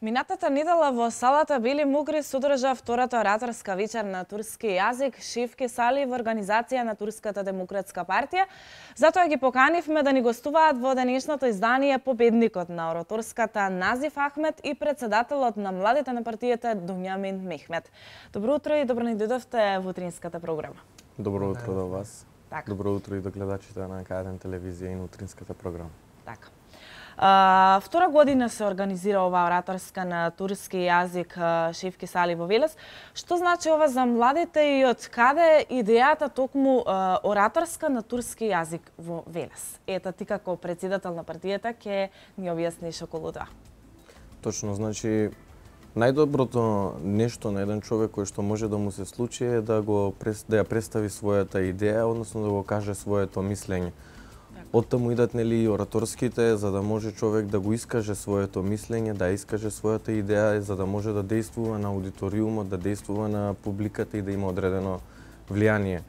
Минатата недела во салата Бели Мугри содржа втората ораторска вечер на турски јазик Шевки Сали во организација на Турската демократска партија. Затоа ги поканивме да ни гостуваат во денешното издание победникот на ораторската Назиф Ахмет и председателот на младите на партијата Дуњамин Мехмет. Добро утро и добро ни дојдовте во утринската програма. Добро утро до вас. Така. Добро утро и до гледачите на К1 телевизија и на утринската програма. Така. Втора година се организира оваа ораторска на турски јазик Шевки Сали во Велес. Што значи ова за младите и од каде идејата токму ораторска на турски јазик во Велес? Ета ти како председател на партијата ќе ни објасниш околу тоа. Точно, значи најдоброто нешто на еден човек кој што може да му се случи е да ја представи својата идеја, односно да го каже своето мислење. Оттаму идат нели и ораторските, за да може човек да го искаже своето мислење, да искаже својата идеја, за да може да действува на аудиториумот, да действува на публиката и да има одредено влијание.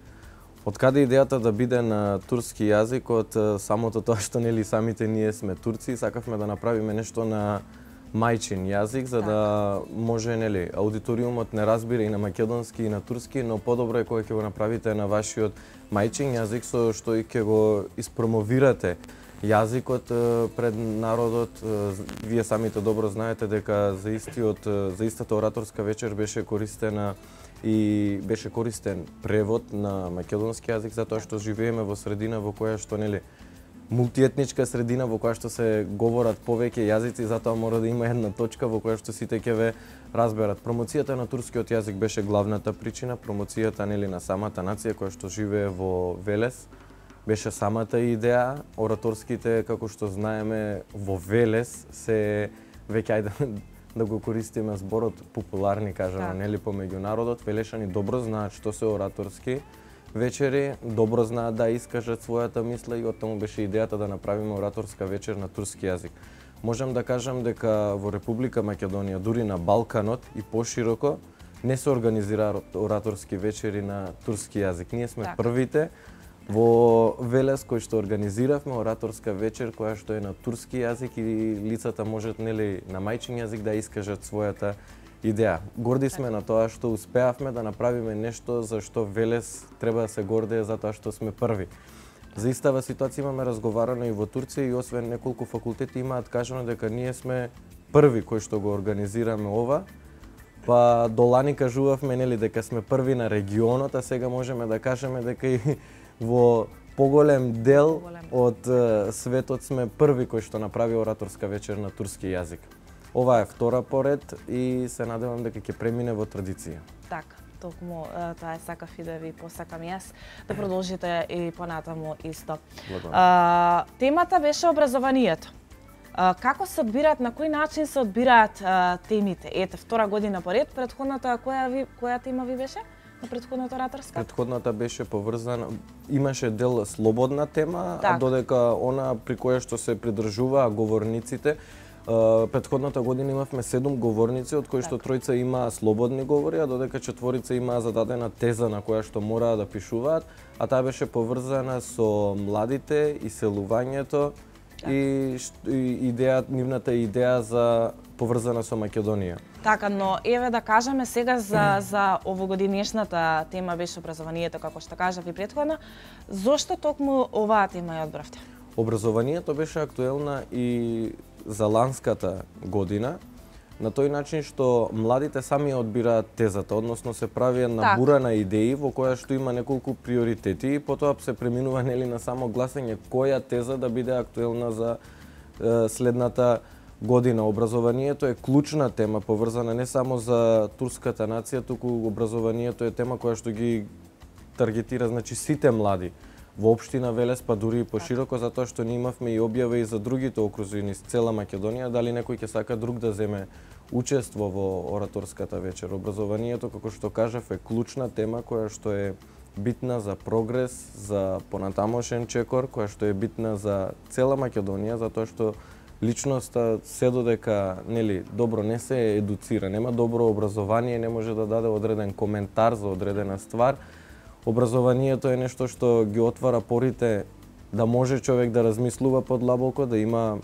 Од каде идејата да биде на турски јазик, од самото тоа што нели самите ние сме турци, сакавме да направиме нешто на мајчин јазик, за да може нели аудиториумот не разбира и на македонски и на турски, но подобро е кога ќе го направите на вашиот мајчин јазик, со што и ќе го испромовирате јазикот пред народот. Вие самите добро знаете дека за истата ораторска вечер беше користен превод на македонски јазик, затоа што живееме во средина во која што нели мултиетничка средина во која што се говорат повеќе јазици, затоа мора да има една точка во која што сите ќе ве разберат. Промоцијата на турскиот јазик беше главната причина, промоцијата нели на самата нација која што живее во Велес беше самата идеја. Ораторските, како што знаеме, во Велес се веќе ајде да го користиме зборот популарни, кажано, нели помеѓу народот. Велешани добро знаат што се ораторски вечери, добро знаат да искажат својата мисла и оттаму беше идејата да направиме ораторска вечер на турски јазик. Можам да кажам дека во Република Македонија, дури на Балканот и пошироко, не се организираат ораторски вечери на турски јазик. Ние сме првите во Велес кои што организиравме ораторска вечер која што е на турски јазик и лицата можат нели на мајчин јазик да искажат својата идеја. Горди сме на тоа што успеавме да направиме нешто за што Велес треба да се гордее затоа што сме први. За истава ситуација имаме разговарано и во Турција и освен неколку факултети имаат кажано дека ние сме први кои што го организираме ова. Па до лани кажувавме нели дека сме први на регионот, а сега можеме да кажеме дека и во поголем дел од светот сме први кои што направи ораторска вечер на турски јазик. Ова е втора поред и се надевам дека ќе премине во традиција. Така, токму тоа е сакав и да ви посакам јас да продолжите и понатаму исто. Темата беше образованието. Како се одбираат, на кој начин се одбираат темите? Ете, втора година поред, претходната која тема ви беше? На претходната ораторска? Претходната беше поврзана, имаше дел слободна тема, а додека она при која што се придржуваа говорниците. Претходната година имавме 7 говорници, од кои што тројца имаа слободни говори, а додека четворица имаа зададена теза на која што мораа да пишуваат, а таа беше поврзана со младите, иселувањето и нивната идеја за поврзана со Македонија. Така, но еве да кажеме сега за овогодинешната тема беше образованието, како што кажав и претходно. Зошто токму оваа тема ја одбравте? Образованието беше актуелна и за ланската година, на тој начин што младите сами одбираат тезата, односно се прави една бура на идеи во која што има неколку приоритети и потоа се преминува нели на само гласање која теза да биде актуелна за следната година. Образованието е клучна тема, поврзана не само за турската нација, туку образованието е тема која што ги таргетира значи сите млади во општина Велес, па дури и пошироко, затоа што ние имавме и објава и за другите окрузи низ цела Македонија, дали некој ќе сака друг да земе учество во ораторската вечер. Образованието, како што кажав, е клучна тема која што е битна за прогрес, за понатамошен чекор, која што е битна за цела Македонија, затоа што личноста се додека нели добро не се едуцира, нема добро образование, не може да даде одреден коментар за одредена ствар. Образованието е нешто што ги отвара порите да може човек да размислува подлабоко, да има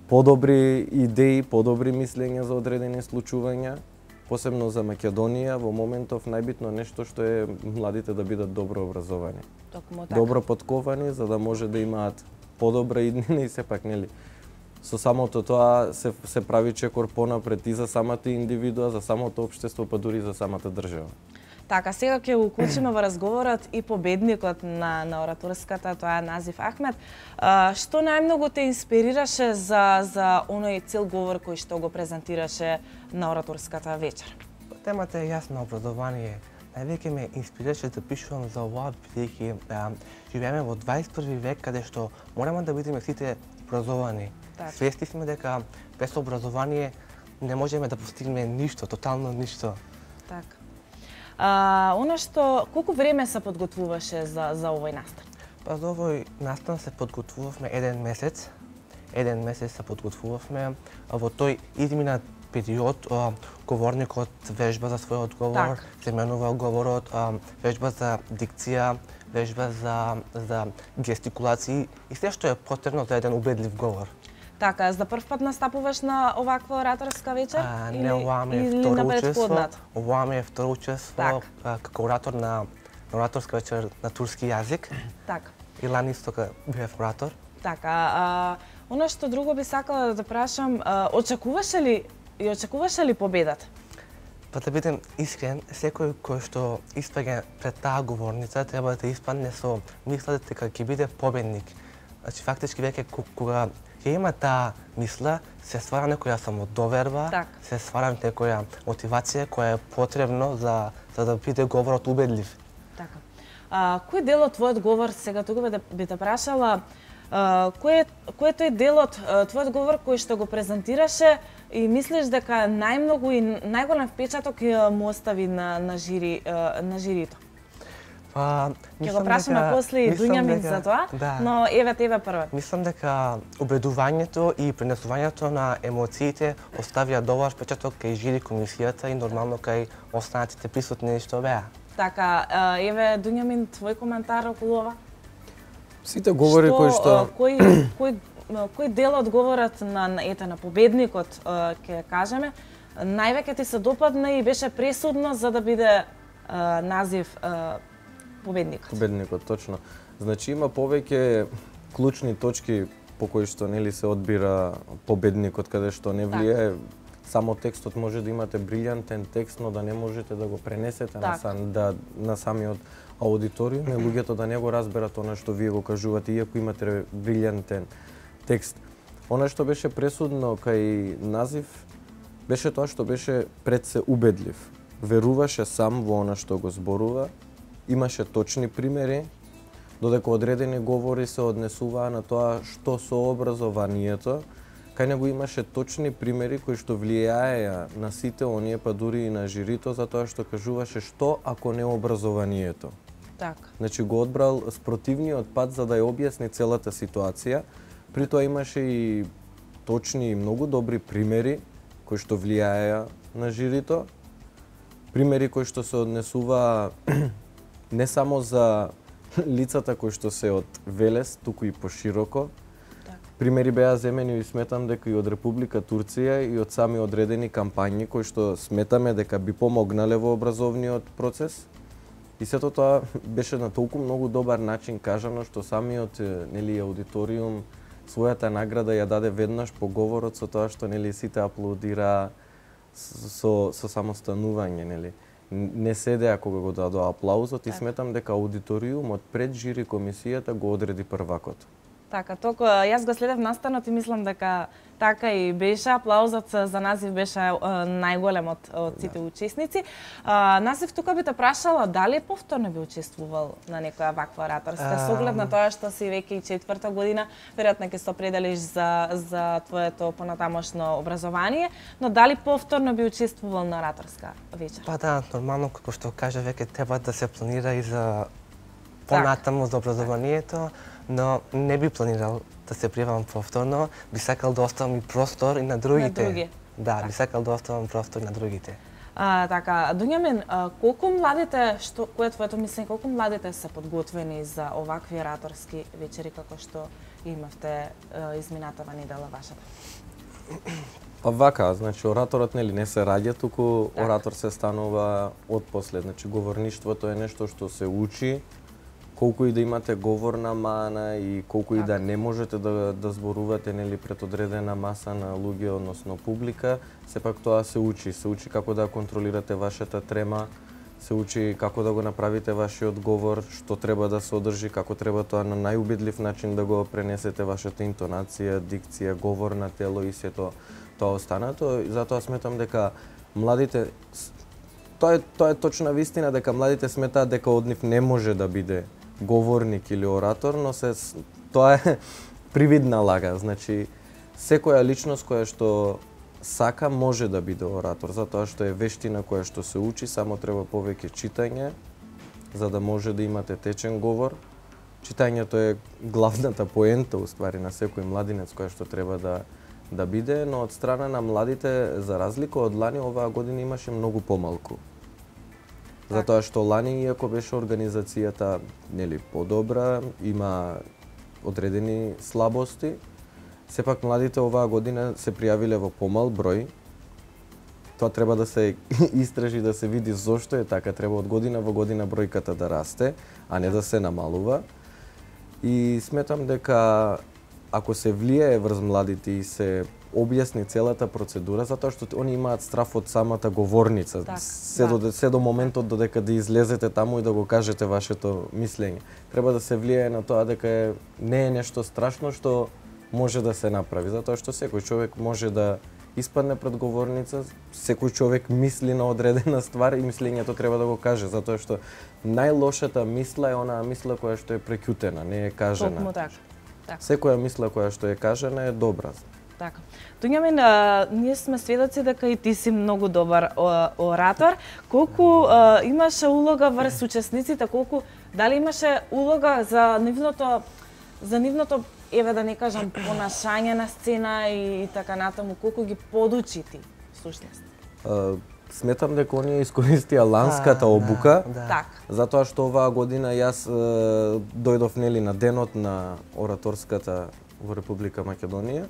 подобри идеи, подобри мислења за одредени случувања, посебно за Македонија. Во моментов најбитно нешто што е младите да бидат добро образовани. Токму така. Добро подковани за да може да имаат подобра иднина и сепак нели со самото тоа се прави чекор понапред и за самата индивидуа, за самото општество, па дури за самата држава. Така, сега ќе уклучиме во разговорот и победникот на ораторската, тоа е Назиф Ахмед. Што најмногу те инспирираше за оној цел говор кој што го презентираше на ораторската вечер? Темата е јасна, образование. Највеќе ме инспирираше да пишувам за ова, бидејќи живееме во 21 век каде што мораме да бидеме сите образовани. Свесни сме дека без образование не можеме да постигнеме ништо, тотално ништо. Така. Она што, колку време се подготвуваше за овој настан? Па за овој настан се подготвувавме еден месец. Еден месец се подготвувавме. Во тој изминат период говорникот вежба за својот говор, се менува говорот, вежба за дикција, вежба за гестикулации и се што е потребно за еден убедлив говор. Така, за прв пат настапуваш на оваква ораторска вечер? Не, ова ми е второ учество. Ова ми е второ учество како оратор на ораторска вечер на турски јазик. Така. И лани исто бев оратор. Така, она што друго би сакала да прашам, очекуваше ли победата? Па да бидем искрен, секој кој што испаѓа пред таа говорница треба да испадне со мислата дека ќе биде победник. Значи фактички веќе кога ќе има таа мисла, се ствара некоја самодоверба, се ствара некоја мотивација која е потребно за да биде говорот убедлив. Така. Кој дел од твојот говор, сега тука би те прашала, кој е тој дел од твојот говор кој што го презентираше и мислиш дека најмногу и најголем впечаток му остави на жирито? Ќе го прашаме после и Дуњамин за тоа, но еве тебе прво. Мислам дека убедувањето и пренесувањето на емоциите оставија добар впечаток кај жири комисијата и нормално кај останатите присутни што беа. Така, еве Дуњамин, твој коментар околу ова? Сите говори кои што кој дел од говорот на победникот ќе кажеме, највеќе ти се допадна и беше пресудно за да биде Назиф победникот. Победникот, точно. Значи има повеќе клучни точки по кои што нели се одбира победникот, каде што не влијае само текстот. Може да имате брилјантен текст, но да не можете да го пренесете на самиот аудиториум и луѓето да не го разберат она што вие го кажувате, иако имате брилјантен текст. Она што беше пресудно кај Назиф беше тоа што беше пред се убедлив. Веруваше сам во она што го зборува, имаше точни примери, додека одредени говори се однесуваа на тоа што со образованието, кај него имаше точни примери кои што влијаеа на сите оние, па дури и на жирито, за тоа што кажуваше што ако не образованието. Така. Значи го одбрал спротивниот пат за да ја објасни целата ситуација. При тоа имаше и точни и многу добри примери кои што влијаеа на жирито. Примери кои што се однесуваа не само за лицата кои што се од Велес, туку и пошироко. Примери беа земени и сметам дека и од Република Турција и од сами одредени кампањи кои што сметаме дека би помогнале во образовниот процес. И сето тоа беше на толку многу добар начин кажано што самиот нели аудиториум својата награда ја даде веднаш по говорот со тоа што нели сите аплодираа со самостанување, нели. Не седеа кога го дадоа аплаузот и сметам дека аудиториумот пред жири комисијата го одреди првакот. Така, толку јас го следев настанот и мислам дека така и беше. Аплаузот за Назиф беше најголем од сите учесници. Назиф, тука би те прашала дали повторно би учествувал на некоја ваква ораторска, со оглед на тоа што си веќе и 4-та година, веројатно ќе се определиш за твоето понатамошно образование, но дали повторно би учествувал на ораторска вечер? Па да, нормално, како што кажа, веќе треба да се планира и за понатаму за образованието, но не би планирал да се пријавам повторно, би сакал да оставам и простор и на другите. На други. Да, би сакал да оставам простор на другите. Така, Дуњамин, колку младите, кој е твоето мислење, колку младите се подготвени за овакви ораторски вечери како што имавте изминатава недела вашата? Па вака, значи ораторот не се раѓа, туку оратор се станува отпослед. Значи говорништвото е нешто што се учи, колку и да имате говорна мана и колку и да не можете да зборувате пред одредена маса на луѓе, односно публика, сепак тоа се учи. Се учи како да контролирате вашата трема, се учи како да го направите вашиот говор, што треба да се одржи, како треба тоа на најубедлив начин да го пренесете вашата интонација, дикција, говор на тело и сето тоа останато. И затоа сметам дека младите, тоа е точна вистина дека младите сметаат дека од нив не може да биде говорник или оратор, но тоа е привидна лага. Значи, секоја личност која што сака може да биде оратор, затоа што е вештина која што се учи, само треба повеќе читање, за да може да имате течен говор. Читањето е главната поента, уствари, на секој младинец која што треба да биде, но од страна на младите, за разлика од лани, оваа година имаше многу помалку. Затоа што лани, иако беше организацијата подобра, има одредени слабости, сепак младите оваа година се пријавиле во помал број. Тоа треба да се истражи, да се види зошто е така. Треба од година во година бројката да расте, а не да се намалува. И сметам дека ако се влијае врз младите и се објасни целата процедура, затоа што они имаат страф од самата говорница, се до моментот додека да излезете таму и да го кажете вашето мислење. Треба да се влијае на тоа дека не е нешто страшно што може да се направи, затоа што секој човек може да испадне пред говорница, секој човек мисли на одредена ствар и мислењето треба да го каже, затоа што најлошата мисла е онаа мисла која што е преќутена, не е кажена. Токму така. Секоја мисла која што е кажена е добра. Така. Дуњамин, ние сме сведоци дека и ти си многу добар оратор. Колку имаше улога врз учесниците, дали имаше улога за нивното еве да не кажам понашање на сцена и така натаму, колку ги подучи ти всушност? Сметам дека оние искористија ланската обука, затоа што оваа година јас дојдов на денот на ораторската во Република Македонија,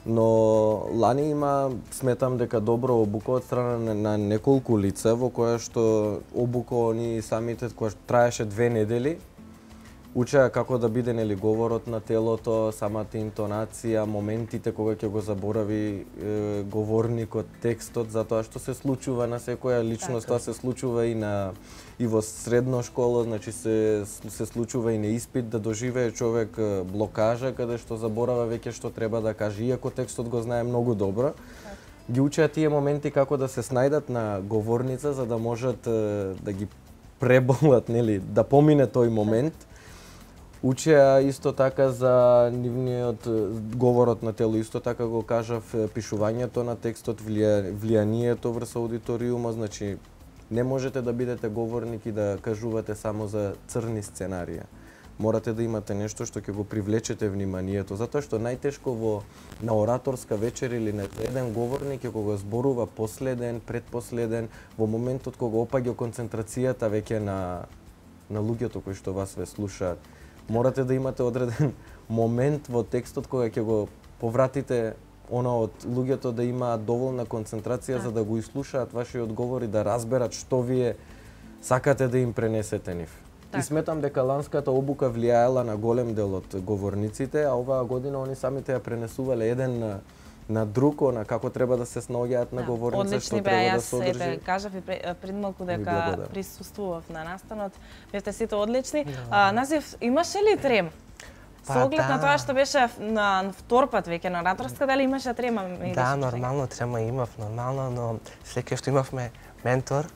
но лани има, сметам дека добра обука од страна на неколку лица, во која што обука они самите, која што траеше 2 недели, учеа како да биде говорот на телото, самата интонација, моментите кога ќе го заборави говорникот текстот, затоа што се случува на секоја личност, тоа се случува и во средно школа, значи се случува и на испит да доживее човек блокажа каде што заборава веќе што треба да каже, иако текстот го знае многу добро. Ги учеа тие моменти како да се снајдат на говорница за да можат да ги преболат, да помине тој момент. Учеа исто така за нивниот говорот на тело, исто така го кажав, пишувањето на текстот, влијанието врз аудиториумот, значи не можете да бидете говорник и да кажувате само за црни сценарија. Морате да имате нешто што ќе го привлечете вниманието, затоа што најтешко на ораторска вечер или на еден говорник е кога зборува последен, предпоследен, во моментот кога опаѓа концентрацијата веќе на луѓето кои што вас ве слушаат. Морате да имате одреден момент во текстот кога ќе го повратите од луѓето да имаат доволна концентрација за да го изслушаат вашиот говор и да разберат што вие сакате да им пренесете нив. И сметам дека ланската обука влијаела на голем дел од говорниците, а оваа година они самите ја пренесувале еден на друг, на како треба да се снаоѓаат на говорница, што треба да се одржи. Јас кажав и пред малку дека присуствував на настанот. Бевте сите одлични. Назив, имаше ли трем? Со оглед на тоа што беше на втор пат веќе на ораторска, дали имаше трема? Да, нормално трема имав, но секој што имавме ментор,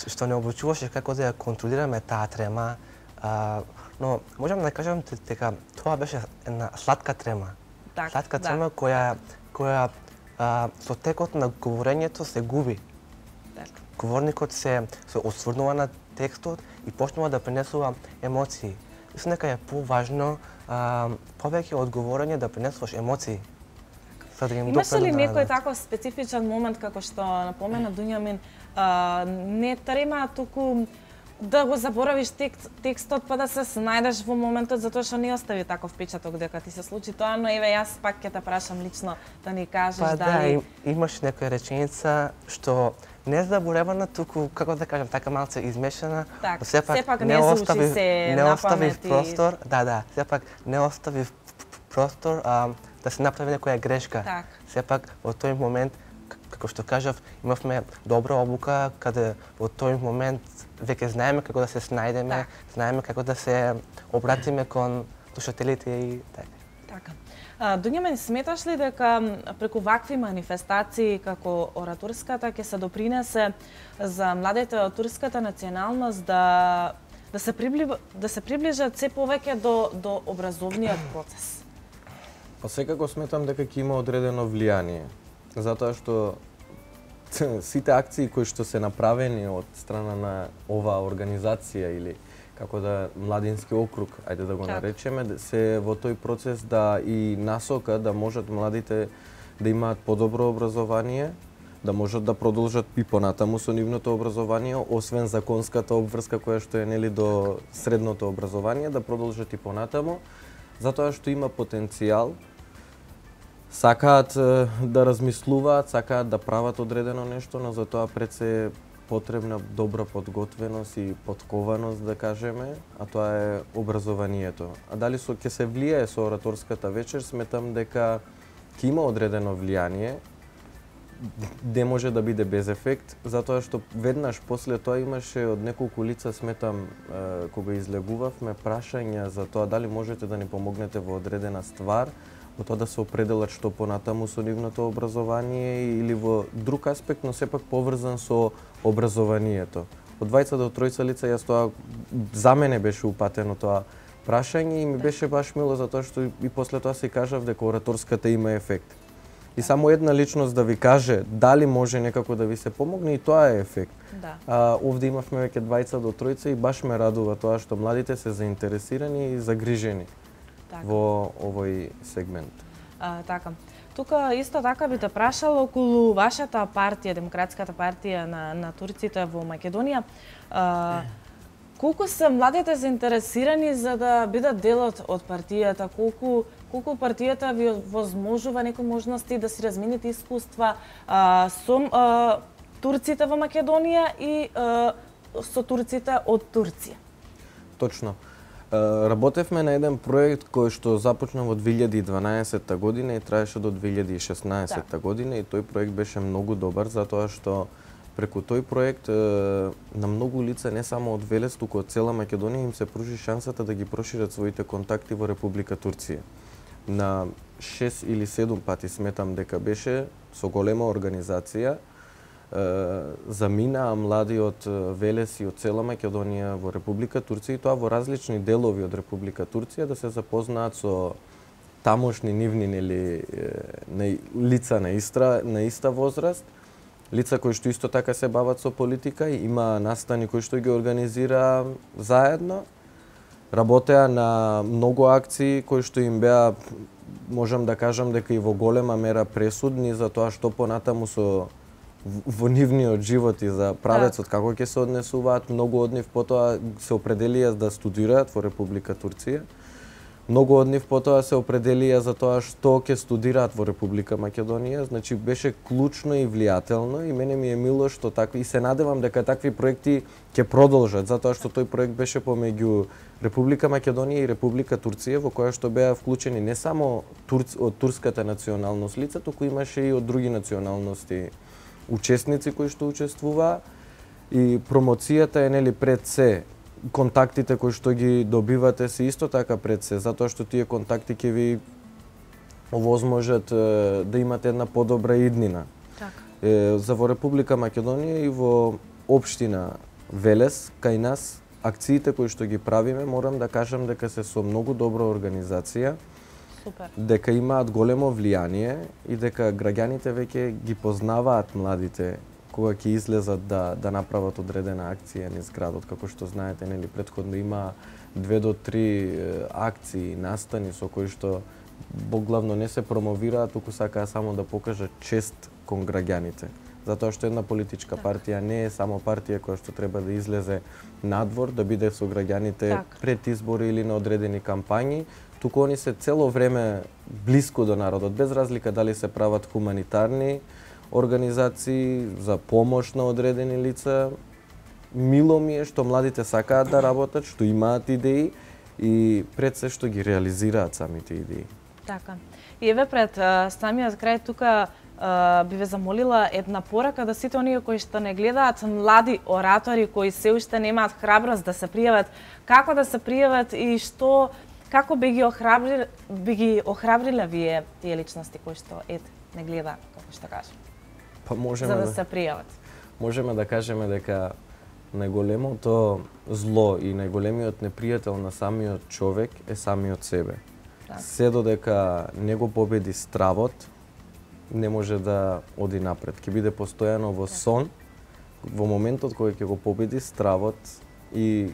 што не обучуваше како да ја контролираме таа трема, но можам да кажам дека тоа беше една сладка трема. Сладка трема која со текот на говорењето се губи. Говорникот се осврнува на текстот и почнува да пренесува емоции. Мислам дека е поважно повеќе од говорење да пренесуваш емоции. за да им Имаше ли допред некој таков специфичен момент како што напомена Дуњамин, не трема туку да го заборавиш текстот па да се снајдеш во моментот затоа што не остави таков впечаток дека ти се случи тоа, но еве јас пак ќе те прашам лично да ни кажеш дали имаш некоја реченица што не заборевана, туку како да кажам, така малце измешана, так, сепак не остави простор, сепак не остави простор да се направи некоја грешка. Так. Сепак во тој момент, како што кажав, имавме добра обука каде во тој момент веќе знаеме како да се снајдеме, знаеме како да се обратиме кон слушателите и така. Така. Дуњамен, сметаш ли дека преку вакви манифестации како ораторската ќе се допринесе за младите од турската националност да се приближат се повеќе до образовниот процес? Па секако сметам дека ќе има одредено влијание, затоа што сите акции кои што се направени од страна на оваа организација или како да младински округ, ајде да го наречеме, се во тој процес да и насока да можат младите да имаат подобро образование, да можат да продолжат и понатаму со нивното образование, освен законската обврска која што е нели до средното образование, да продолжат и понатаму, затоа што има потенцијал, сакаат да размислуваат, сакаат да прават одредено нешто, но за тоа пред се потребна добра подготвеност и подкованост, да кажеме, а тоа е образованието. А дали ќе се влијае со ораторската вечер, сметам дека ќе има одредено влијание, не може да биде без ефект, затоа што веднаш после тоа имаше од неколку лица, сметам, кога излегувавме, прашања за тоа дали можете да ни помогнете во одредена ствар, во тоа да се определат што понатаму со нивното образование или во друг аспект, но сепак поврзан со образованието. Од двајца до тројца лица јас тоа за мене беше упатено тоа прашање и ми беше баш мило затоа што и после тоа се кажав дека ораторската има ефект. И само една личност да ви каже дали може некако да ви се помогне и тоа е ефект. Да. Овде имавме веќе двајца до тројца и баш ме радува тоа што младите се заинтересирани и загрижени во овој сегмент. Така. Тука исто така би те прашала околу вашата партија, Демократската партија на турците во Македонија. Колку се младите заинтересирани за да бидат дел од партијата? Колку партијата ви возможува некои можности да си размените искуства со турците во Македонија и со турците од Турција? Точно. Работевме на еден проект кој што започна во 2012 година и траеше до 2016 година и тој проект беше многу добар затоа што преку тој проект на многу лица не само од Велес, туку од цела Македонија им се пружи шансата да ги прошират своите контакти во Република Турција. На 6 или 7 пати сметам дека беше со голема организација заминаа млади од Велес и од цела Македонија во Република Турција и тоа во различни делови од Република Турција да се запознаат со тамошни нивни лица на иста возраст, лица кои што исто така се бават со политика и има настани кои што ги организира заедно. Работеа на многу акции кои што им беа, можам да кажам дека и во голема мера пресудни за тоа што понатаму во нивниот живот и за правецот како ќе се однесуваат. Многу од нив потоа се определија да студираат во Република Турција. Многу од нив потоа се определија за тоа што ќе студираат во Република Македонија. Значи беше клучно и влијателно и мене ми е мило што такви и се надевам дека такви проекти ќе продолжат затоа што тој проект беше помеѓу Република Македонија и Република Турција во која што беа вклучени не само од турската националност лица, туку имаше и од други националности учесници кои што учествуваа и промоцијата е нели пред се. Контактите кои што ги добивате се исто така пред се, затоа што тие контакти ќе ви овозможат да имате една подобра иднина. Така. За во Република Македонија и во општина Велес, кај нас, акциите кои што ги правиме, морам да кажам дека се со многу добра организација. Супер. Дека имаат големо влијание и дека граѓаните веќе ги познаваат младите кога ќе излезат да направат одредена акција низ градот. Како што знаете, нели претходно има 2 до 3 акции, настани со кои што главно не се промовираат, туку сакаа само да покажат чест кон граѓаните. Затоа што една политичка партија не е само партија која што треба да излезе надвор, да биде со граѓаните пред избори или на одредени кампањи, туку они се цело време блиску до народот, без разлика дали се прават хуманитарни организации за помош на одредени лица. Мило ми е што младите сакаат да работат, што имаат идеи и пред се што ги реализираат самите идеи. Така. И еве пред самиот крај тука би ве замолила една порака да сите оние кои што не гледаат, млади оратори кои се уште немаат храброст да се пријават, како да се пријават и што како би ги охрабриле вие тие личности кои што не гледаат, како што кажам. Па можеме за да се пријават. Можеме да кажеме дека најголемото зло и најголемиот непријател на самиот човек е самиот себе. Се додека не го победи стравот, не може да оди напред. Ќе биде постојано во сон, во моментот кој ќе го победи стравот и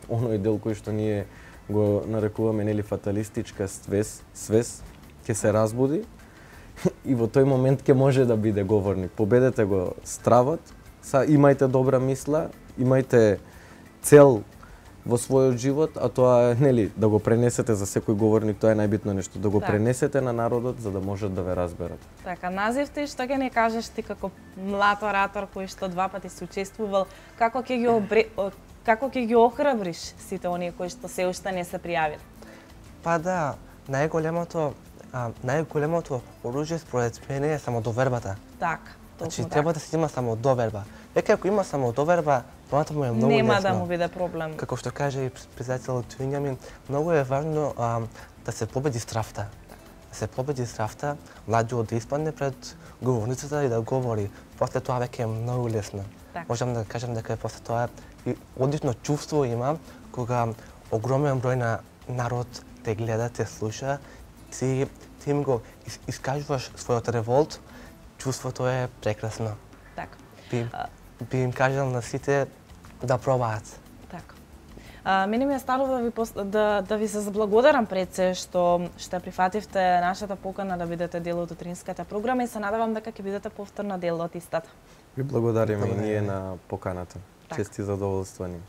оној дел кој што ние го нарекуваме нели фаталистичка свес ќе се разбуди и во тој момент ќе може да биде говорник. Победете го стравот, имајте добра мисла, имајте цел во својот живот, а тоа е нели да го пренесете за секој говорник, тоа е најбитно нешто, да го пренесете на народот за да можат да ве разберат. Така, назив ти што ќе не кажеш ти како млад оратор кој што 2 пати се учествувал, како ќе ги охрабриш сите оние кои што се уште не се пријавиле? Па да, најголемото оружје според мене е самодовербата. Така, точно така. Треба да се има самодоверба. Веќе ако има самодоверба, понатаму е многу лесно. Нема да му биде проблем. Како што каже и председателот Винјамин, многу е важно да се победи стравта. Да се победи стравта, младиот да испадне пред говорницата и да говори. После тоа веќе е многу лесно. Можам да кажам дека после тоа и одлично чувство има кога огромен број на народ те гледа, те слуша, ти им го искажуваш својот револт, чувството е прекрасно. Така. Би им кажал на сите да пробаат. Така. Мене ми е станува да ви се заблагодарам пред се што прифативте нашата покана да бидете дел од утринската програма и се надевам дека ќе бидете повторно дел од истата. Ви благодариме и ние на поканата. Чест и задоволство ни.